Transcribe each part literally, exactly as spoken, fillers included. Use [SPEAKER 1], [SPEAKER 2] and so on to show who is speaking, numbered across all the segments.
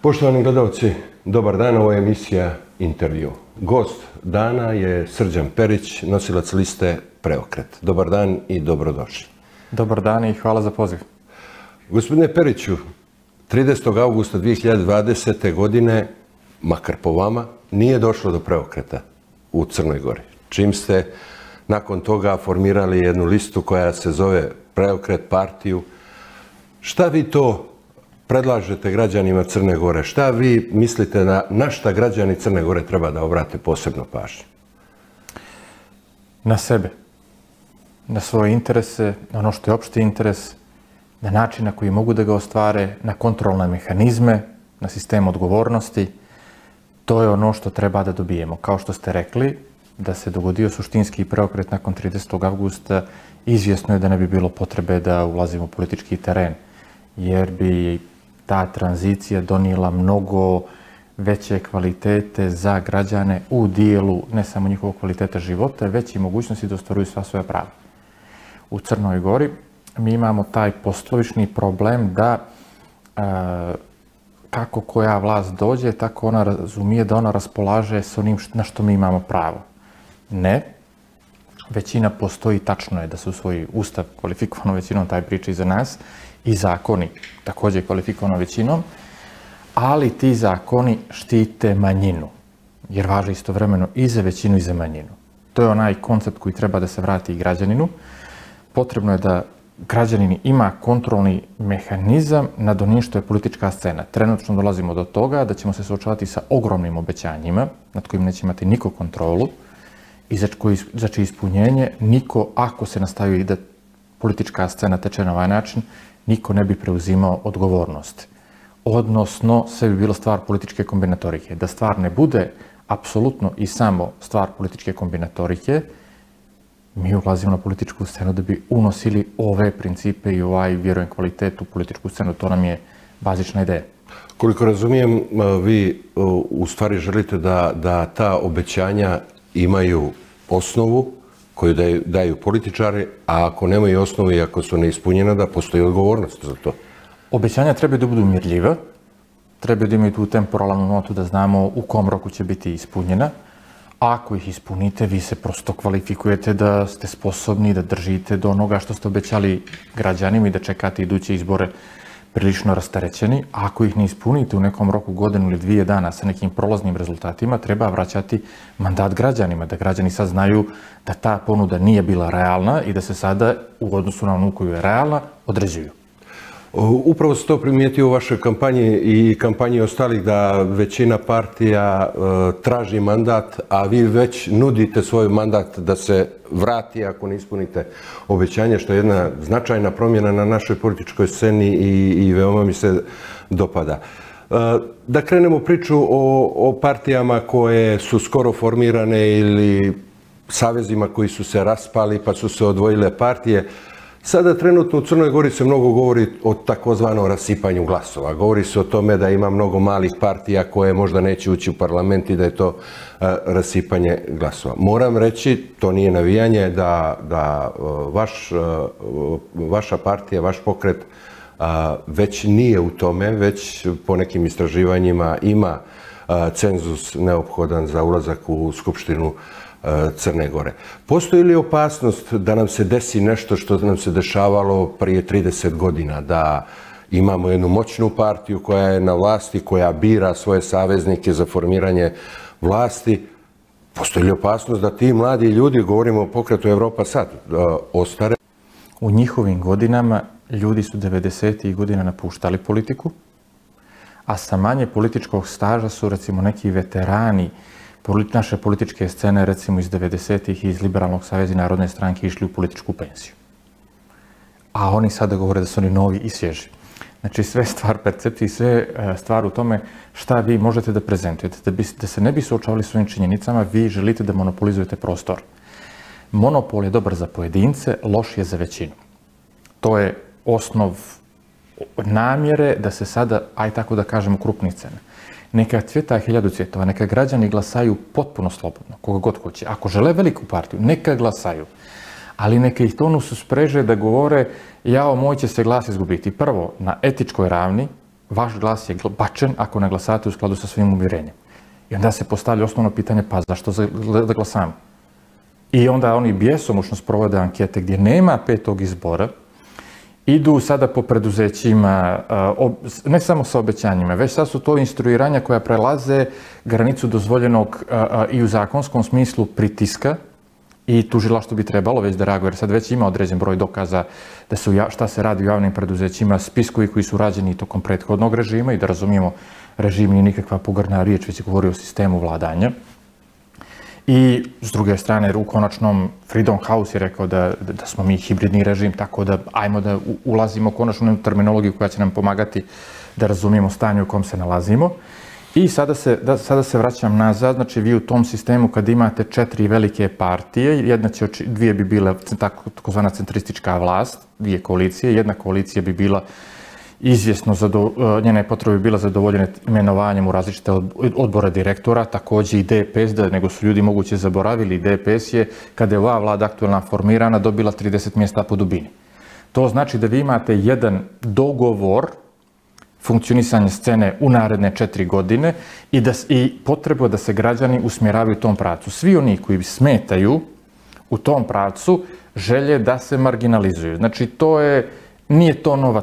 [SPEAKER 1] Poštovani gledalci, dobar dan, ovo je emisija Intervju. Gost dana je Srđan Perić, nosilac liste Preokret. Dobar dan i dobrodošli.
[SPEAKER 2] Dobar dan i hvala za poziv.
[SPEAKER 1] Gospodine Periću, tridesetog avgusta dvije hiljade dvadesete. godine, makar po vama, nije došlo do preokreta u Crnoj Gori. Čim ste nakon toga formirali jednu listu koja se zove Preokret, partiju, šta vi to predlažete građanima Crne Gore? Šta vi mislite na, na šta građani Crne Gore treba da obrate posebno pažnju?
[SPEAKER 2] Na sebe, na svoje interese, na ono što je opšti interes, na način na koji mogu da ga ostvare, na kontrolne mehanizme, na sistem odgovornosti. To je ono što treba da dobijemo. Kao što ste rekli, da se dogodio suštinski preokret nakon tridesetog avgusta, izvjesno je da ne bi bilo potrebe da ulazimo u politički teren, jer bi ta tranzicija donijela mnogo veće kvalitete za građane u dijelu ne samo njihovog kvaliteta života, već i mogućnosti da ostvaruju sva svoja prava. U Crnoj Gori mi imamo taj poslovični problem da e, kako koja vlast dođe, tako ona razumije da ona raspolaže s onim na što mi imamo pravo. Ne. Većina postoji, tačno je da se usvoji ustav kvalifikovanom većinom, taj priča i za nas, i zakoni također kvalifikovanom većinom, ali ti zakoni štite manjinu, jer važe istovremeno i za većinu i za manjinu. To je onaj koncept koji treba da se vrati i građaninu. Potrebno je da građanin ima kontrolni mehanizam nad onim što je politička scena. Trenutno dolazimo do toga da ćemo se suočavati sa ogromnim obećanjima, nad kojim neće imati niko kontrolu, i za, koji, za čije ispunjenje niko, ako se nastavi da politička scena teče na ovaj način, niko ne bi preuzimao odgovornost. Odnosno, sve bi bilo stvar političke kombinatorike. Da stvar ne bude apsolutno i samo stvar političke kombinatorike, mi ulazimo na političku scenu da bi unosili ove principe i ovaj, vjerujem, kvalitet u političku scenu. To nam je bazična ideja.
[SPEAKER 1] Koliko razumijem, vi u stvari želite da, da ta obećanja imaju osnovu koju daju, daju političari, a ako nemaju osnovu i ako su neispunjena, da postoji odgovornost za to.
[SPEAKER 2] Obećanja trebaju da budu mjerljiva, trebaju da imaju tu temporalnu notu da znamo u kom roku će biti ispunjena. A ako ih ispunite, vi se prosto kvalifikujete da ste sposobni da držite do onoga što ste obećali građanima i da čekate iduće izbore prilično rasterećeni. A ako ih ne ispunite u nekom roku godinu ili dvije dana sa nekim prolaznim rezultatima, treba vraćati mandat građanima, da građani sad znaju da ta ponuda nije bila realna i da se sada u odnosu na onu koju je realna određuju.
[SPEAKER 1] Upravo se to primijetio u vašoj kampanji i kampanji ostalih da većina partija e, traži mandat, a vi već nudite svoj mandat da se vrati ako ne ispunite obećanje, što je jedna značajna promjena na našoj političkoj sceni i, i veoma mi se dopada. E, da krenemo priču o, o partijama koje su skoro formirane ili savezima koji su se raspali pa su se odvojile partije. Sada trenutno u Crnoj Gori se mnogo govori o takozvanom rasipanju glasova. Govori se o tome da ima mnogo malih partija koje možda neće ući u parlament i da je to a, rasipanje glasova. Moram reći, to nije navijanje, da, da vaš, vaša partija, vaš pokret a, već nije u tome, već po nekim istraživanjima ima a, cenzus neophodan za ulazak u Skupštinu Crne Gore. Postoji li opasnost da nam se desi nešto što nam se dešavalo prije trideset godina, da imamo jednu moćnu partiju koja je na vlasti, koja bira svoje saveznike za formiranje vlasti? Postoji li opasnost da ti mladi ljudi, govorimo o pokretu Evropa sad, ostare?
[SPEAKER 2] U njihovim godinama ljudi su devedesetih godina napuštali politiku, a sa manje političkog staža su, recimo, neki veterani naše političke scene, recimo iz devedesetih i iz Liberalnog saveza i Narodne stranke, išli u političku pensiju. A oni sada govore da su oni novi i svježi. Znači, sve stvar percepcije, sve stvar u tome šta vi možete da prezentujete. Da, bi, da se ne bi suočavali s ovim činjenicama, vi želite da monopolizujete prostor. Monopol je dobar za pojedince, loš je za većinu. To je osnov namjere da se sada, aj tako da kažemo, krupnih cena. Neka cvjeta hiljadu cvjetova, neka građani glasaju potpuno slobodno, koga god hoće. Ako žele veliku partiju, neka glasaju. Ali neka ih tonu su spreže da govore jao, moj će se glas izgubiti. Prvo, na etičkoj ravni, vaš glas je bačen ako ne glasate u skladu sa svojim uvjerenjem. I onda se postavlja osnovno pitanje, pa zašto da glasamo? I onda oni bjesomučno sprovode ankete gdje nema petog izbora, idu sada po preduzećima, ne samo sa obećanjima, već sad su to instruiranja koja prelaze granicu dozvoljenog i u zakonskom smislu pritiska i tužilaštvo bi trebalo već da reaguje, jer sad već ima određen broj dokaza da su šta se radi u javnim preduzećima, spiskovi koji su rađeni tokom prethodnog režima i da razumijemo, režim nije nikakva pogrdna riječ, već govori o sistemu vladanja. I s druge strane, u konačnom Freedom House je rekao da, da smo mi hibridni režim, tako da ajmo da ulazimo konačno u terminologiju koja će nam pomagati da razumijemo stanje u kom se nalazimo. I sada se, da, sada se vraćam nazad, znači vi u tom sistemu kad imate četiri velike partije, jedna će, dvije bi bile takozvana centristička vlast, dvije koalicije, jedna koalicija bi bila izvjesno, njene potrebe bi bila zadovoljene imenovanjem u različite odbore direktora, također i D P S, da nego su ljudi moguće zaboravili, D P S je, kada je ova vlada aktualna formirana, dobila trideset mjesta po dubini. To znači da vi imate jedan dogovor funkcionisanje scene u naredne četiri godine i, da, i potrebu da se građani usmjeravaju u tom pravcu. Svi oni koji smetaju u tom pravcu želje da se marginalizuju. Znači, to je, nije to nova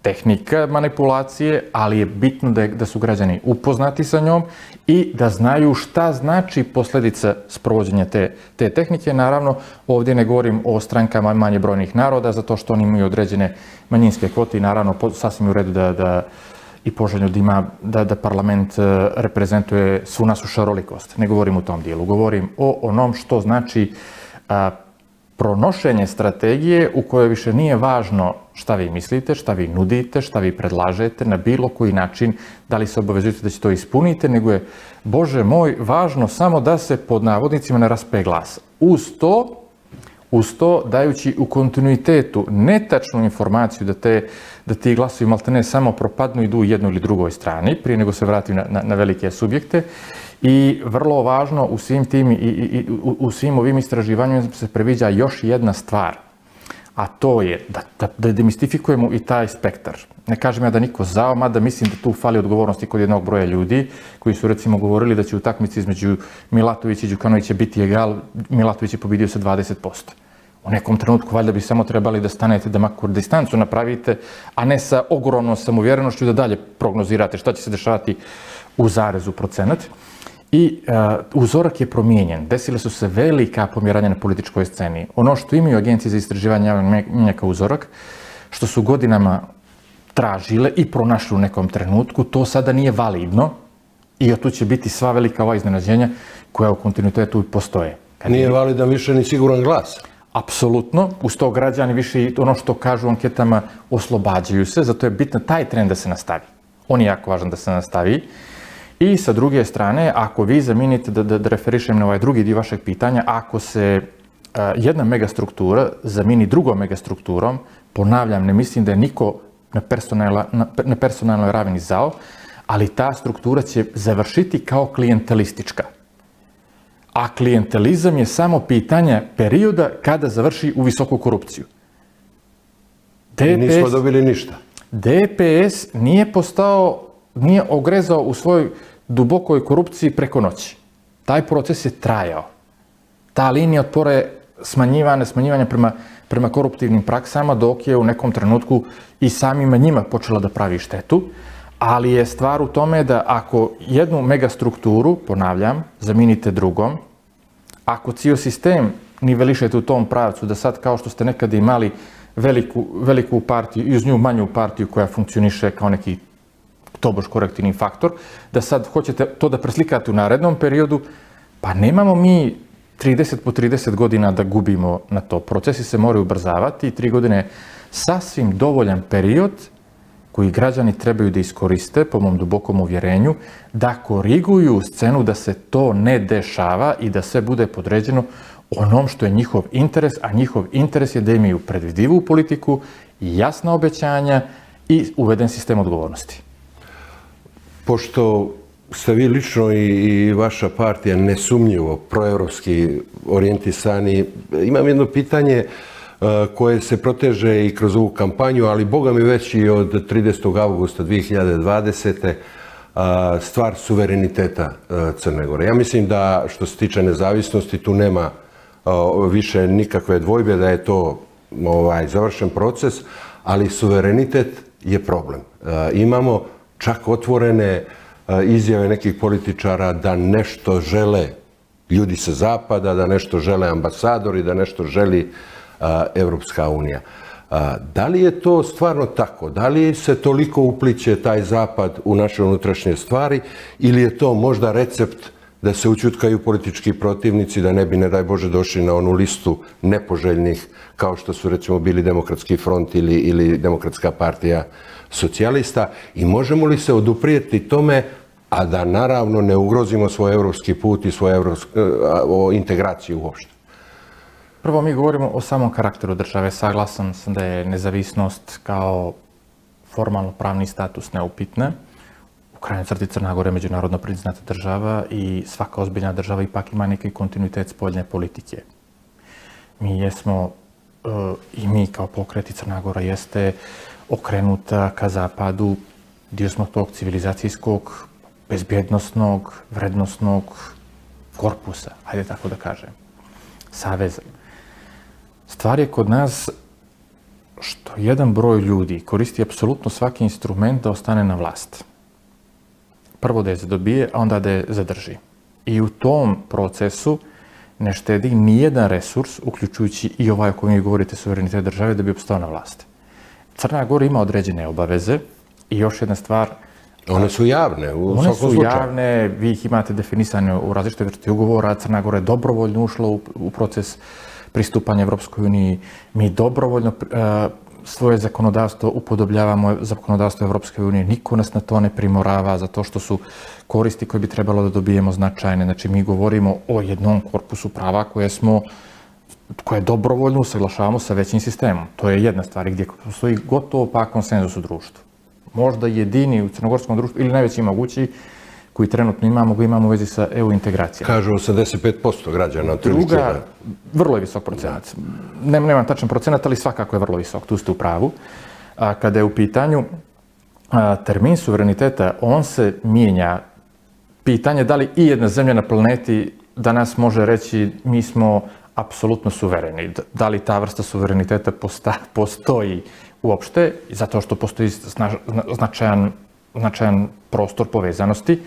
[SPEAKER 2] tehnika manipulacije, ali je bitno da, je, da su građani upoznati sa njom i da znaju šta znači posljedica sprovođenja te, te tehnike. Naravno, ovdje ne govorim o strankama manje brojnih naroda, zato što oni imaju određene manjinske kvote i naravno sasvim u redu da, da i poželjno da, ima, da, da parlament reprezentuje svu našu šarolikost. Ne govorim u tom dijelu, govorim o onom što znači a, pronošenje strategije u kojoj više nije važno šta vi mislite, šta vi nudite, šta vi predlažete, na bilo koji način, da li se obavezujete da će to ispunite, nego je, Bože moj, važno samo da se pod navodnicima ne raspe glas. Uz to, uz to dajući u kontinuitetu netačnu informaciju da, te, da ti glasovi maltene samo propadnu i idu u jednoj ili drugoj strani, prije nego se vrati na, na, na velike subjekte. I vrlo važno u svim tim i, i, u, u svim ovim istraživanjima se previđa još jedna stvar, a to je da, da, da demistifikujemo i taj spektar. Ne kažem ja da niko zao, mada mislim da tu fali odgovornosti kod jednog broja ljudi koji su recimo govorili da će u takmici između Milatovića i Đukanovića biti egal, Milatović je pobidio sa dvadeset posto. U nekom trenutku valjda bi samo trebali da stanete da makar distancu napravite, a ne sa ogromnom samouvjerenošću da dalje prognozirate šta će se dešavati u zarezu procenat. I uh, uzorak je promijenjen. Desile su se velika pomjeranja na političkoj sceni. Ono što imaju agencije za istraživanje javnog mnijenja kao uzorak, što su godinama tražile i pronašli u nekom trenutku, to sada nije validno i tu će biti sva velika ova iznenađenja koja u kontinuitetu postoje.
[SPEAKER 1] Kad nije validan više ni siguran glas.
[SPEAKER 2] Apsolutno. Uz to građani više ono što kažu u anketama oslobađaju se, zato je bitno taj trend da se nastavi. On je jako važan da se nastavi. I sa druge strane, ako vi zamijenite, da, da, da referišem na ovaj drugi dio vašeg pitanja, ako se uh, jedna megastruktura zamijeni drugom megastrukturom, ponavljam, ne mislim da je niko na, personalna, na, na personalnoj ravni zao, ali ta struktura će završiti kao klijentelistička. A klijentelizam je samo pitanje perioda kada završi u visoku korupciju.
[SPEAKER 1] D P S, nismo dobili ništa.
[SPEAKER 2] D P S nije postao nije ogrezao u svojoj dubokoj korupciji preko noći. Taj proces je trajao. Ta linija otpora je smanjivana, smanjivanja prema, prema koruptivnim praksama, dok je u nekom trenutku i samima njima počela da pravi štetu. Ali je stvar u tome da ako jednu megastrukturu, ponavljam, zamijenite drugom, ako cijel sistem nivelišete u tom pravcu, da sad kao što ste nekada imali veliku, veliku partiju i uz nju manju partiju koja funkcioniše kao neki tobož korektivni faktor, da sad hoćete to da preslikate u narednom periodu, pa nemamo mi trideset po trideset godina da gubimo na to. Procesi se moraju ubrzavati i tri godine je sasvim dovoljan period koji građani trebaju da iskoriste, po mom dubokom uvjerenju, da koriguju scenu da se to ne dešava i da sve bude podređeno onom što je njihov interes, a njihov interes je da imaju predvidivu politiku, jasna obećanja i uveden sistem odgovornosti.
[SPEAKER 1] Pošto ste vi lično i, i vaša partija nesumnjivo proevropski orijentisani, imam jedno pitanje. koje se proteže i kroz ovu kampanju, ali boga mi već i od tridesetog avgusta dve hiljade dvadesete stvar suvereniteta Crne Gore. Ja mislim da što se tiče nezavisnosti tu nema više nikakve dvojbe da je to završen proces, ali suverenitet je problem. Imamo čak otvorene izjave nekih političara da nešto žele ljudi sa zapada, da nešto žele ambasadori, da nešto želi Evropska unija. Da li je to stvarno tako? Da li se toliko upliće taj zapad u naše unutrašnje stvari ili je to možda recept da se ućutkaju politički protivnici, da ne bi, ne daj Bože, došli na onu listu nepoželjnih kao što su recimo bili Demokratski front ili, ili Demokratska partija socijalista, i možemo li se oduprijeti tome, a da naravno ne ugrozimo svoj evropski put i svoju evropsku integraciju uopšte?
[SPEAKER 2] Prvo, mi govorimo o samom karakteru države. Saglasan sam da je nezavisnost kao formalno pravni status neupitna. U krajnjoj crti Crna Gora je međunarodno priznata država i svaka ozbiljna država ipak ima neki kontinuitet spoljne politike. Mi jesmo, i mi kao pokret i Crna Gora jeste okrenuta ka zapadu, dio smo tog civilizacijskog, bezbjednosnog, vrednosnog korpusa, hajde tako da kažem, saveza. Stvar je kod nas što jedan broj ljudi koristi apsolutno svaki instrument da ostane na vlast. Prvo da je zadobije, a onda da je zadrži. I u tom procesu ne štedi nijedan resurs, uključujući i ovaj o kojem vi govorite, suverenitet države, da bi opstao na vlasti. Crna Gora ima određene obaveze i još jedna stvar...
[SPEAKER 1] One su javne, u svakom slučaju.
[SPEAKER 2] One su javne, vi ih imate definisane u različitoj vrsti ugovora. Crna Gora je dobrovoljno ušla u, u proces pristupanja Evropskoj uniji. Mi dobrovoljno uh, svoje zakonodavstvo upodobljavamo zakonodavstvo Evropske unije. Niko nas na to ne primorava zato što su koristi koje bi trebalo da dobijemo značajne. Znači, mi govorimo o jednom korpusu prava koje smo koje dobrovoljno usaglašavamo sa većim sistemom. To je jedna stvar gdje postoji gotovo pa konsenzus u društvu. Možda jedini u crnogorskom društvu ili najveći mogući koji trenutno imamo, ga imamo u vezi sa E U integracijama.
[SPEAKER 1] Kažu osamdeset pet posto građana.
[SPEAKER 2] Druga, vrlo je visok procenat. Nem, nemam tačan procenat, ali svakako je vrlo visok, tu ste u pravu. A, kada je u pitanju a, termin suvereniteta, on se mijenja. Pitanje da li i jedna zemlja na planeti danas može reći mi smo apsolutno suvereni. Da li ta vrsta suvereniteta posta, postoji uopšte, zato što postoji snaž, značajan, značajan prostor povezanosti.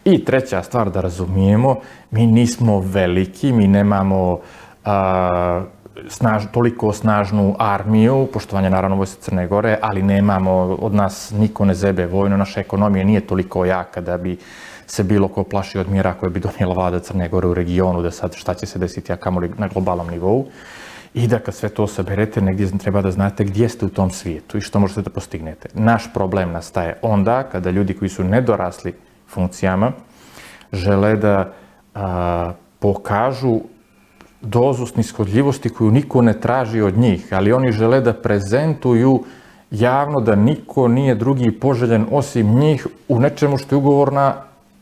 [SPEAKER 2] I treća stvar da razumijemo, mi nismo veliki, mi nemamo a, snaž, toliko snažnu armiju, poštovanje naravno vojske Crne Gore, ali nemamo, od nas niko ne zebe vojno, naša ekonomija nije toliko jaka da bi se bilo ko plaši od mjera koje bi donijela vlada Crne Gore u regionu, da sad šta će se desiti, a kamoli na globalnom nivou. I da kad sve to saberete, negdje treba da znate gdje ste u tom svijetu i što možete da postignete. Naš problem nastaje onda kada ljudi koji su nedorasli funkcijama žele da a, pokažu dozu snishodljivosti koju niko ne traži od njih, ali oni žele da prezentuju javno da niko nije drugi poželjen osim njih u nečemu što je ugovorna,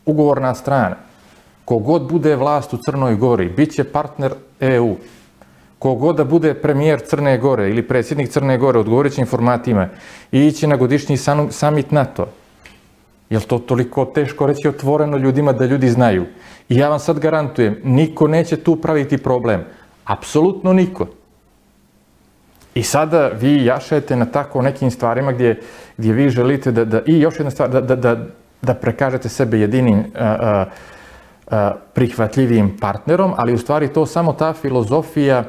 [SPEAKER 2] ugovorna strana. Kogod bude vlast u Crnoj Gori, bit će partner E U. Kogod da bude premijer Crne Gore ili predsjednik Crne Gore, odgovorit će informatima i ići na godišnji samit NATO. Je li to toliko teško reći otvoreno ljudima da ljudi znaju? I ja vam sad garantujem, niko neće tu praviti problem. Apsolutno niko. I sada vi jašete na tako nekim stvarima gdje, gdje vi želite da, da i još jedna stvar, da, da, da, da prekažete sebe jedinim a, a, a, prihvatljivim partnerom, ali u stvari to samo ta filozofija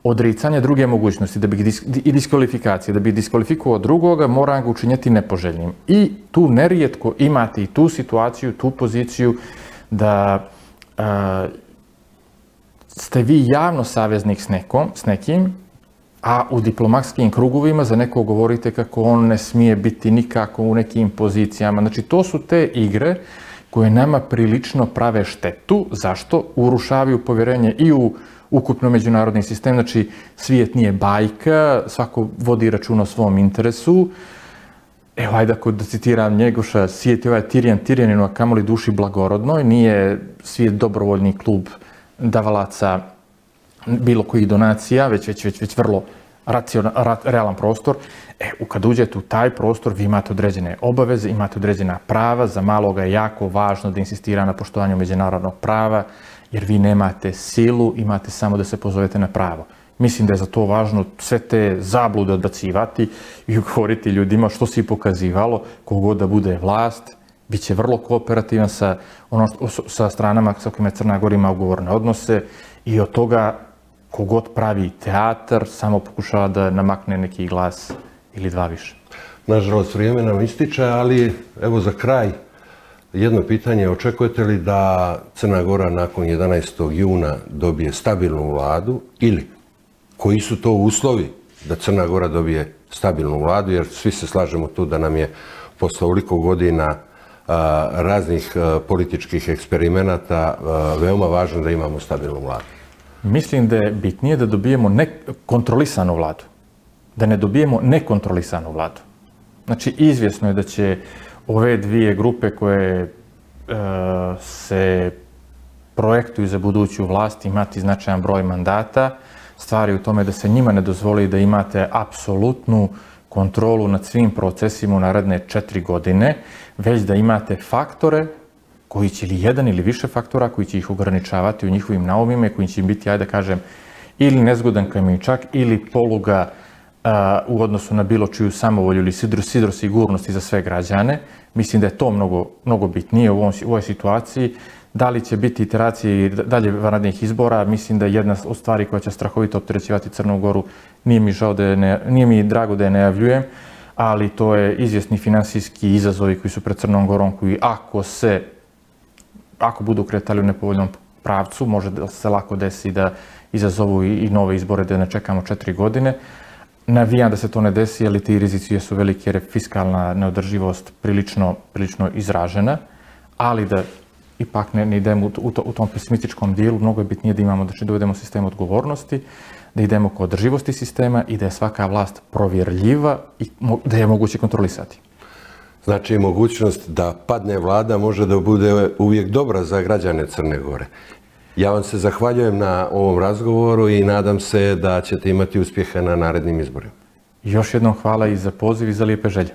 [SPEAKER 2] odricanja druge mogućnosti da bi dis, i diskvalifikacije. Da bi diskvalifikovao drugoga, mora ga učinjeti nepoželjnim. I tu nerijetko imate i tu situaciju, tu poziciju da a, ste vi javno saveznik s, nekom, s nekim, a u diplomatskim krugovima za nekog govorite kako on ne smije biti nikako u nekim pozicijama. Znači, to su te igre koje nama prilično prave štetu. Zašto? Urušavaju povjerenje i u ukupno međunarodni sistem. Znači, svijet nije bajka, svako vodi račun o svom interesu. Evo, ajde ako da citiram Njegoša, svijet je ovaj Tirijan Tirijaninu, a kamoli duši blagorodnoj. Nije svijet dobrovoljni klub davalaca bilo kojih donacija, već, već, već, već vrlo realan prostor. E, kad uđete u taj prostor, vi imate određene obaveze, imate određena prava. Za maloga je jako važno da insistira na poštovanju međunarodnog prava, jer vi nemate silu, imate samo da se pozovete na pravo. Mislim da je za to važno sve te zablude odbacivati i govoriti ljudima što si pokazivalo, kogod da bude vlast, bit će vrlo kooperativan sa, ono, sa stranama sa kojima Crna Gora ima ugovorne odnose i od toga kogod pravi teatar samo pokušava da namakne neki glas ili dva više.
[SPEAKER 1] Nažalost, vrijeme nam ističe, ali evo za kraj jedno pitanje. Očekujete li da Crna Gora nakon jedanaestog juna dobije stabilnu vladu ili koji su to uslovi da Crna Gora dobije stabilnu vladu, jer svi se slažemo tu da nam je posle ovoliko godina a, raznih a, političkih eksperimenata a, veoma važno da imamo stabilnu vladu.
[SPEAKER 2] Mislim da je bitnije da dobijemo nekontrolisanu vladu, da ne dobijemo nekontrolisanu vladu. Znači, izvjesno je da će ove dvije grupe koje e, se projektuju za buduću vlast imati značajan broj mandata. Stvari u tome da se njima ne dozvoli da imate apsolutnu kontrolu nad svim procesima u naredne četiri godine, već da imate faktore koji će, ili jedan ili više faktora, koji će ih ograničavati u njihovim naumima i koji će im biti, ajde da kažem, ili nezgodan kamenčak ili poluga a, u odnosu na bilo čiju samovolju ili sidro, sidro sigurnosti za sve građane. Mislim da je to mnogo, mnogo bitnije u, ovom, u ovoj situaciji. Da li će biti iteracije i dalje vanrednih izbora, mislim da je jedna od stvari koja će strahovito opterećivati Crnu Goru. Nije mi, žao da je ne, nije mi drago da je najavljujem, ali to je izvjesni finansijski izazovi koji su pred Crnom Gorom, koji ako se, ako budu kretali u nepovoljnom pravcu, može da se lako desi da izazovu i, i nove izbore, da ne čekamo četiri godine. Navijam da se to ne desi, ali ti rizici su veliki jer je fiskalna neodrživost prilično, prilično izražena, ali da ipak ne, ne idemo u, u, u tom pesimističkom dijelu. Mnogo je bitnije da imamo, znači, dovedemo sistem odgovornosti, da idemo ka održivosti sistema i da je svaka vlast provjerljiva i da je moguće kontrolisati.
[SPEAKER 1] Znači, mogućnost da padne vlada može da bude uvijek dobra za građane Crne Gore. Ja vam se zahvaljujem na ovom razgovoru i nadam se da ćete imati uspjeha na narednim izborima.
[SPEAKER 2] Još jednom hvala i za poziv i za lijepe želje.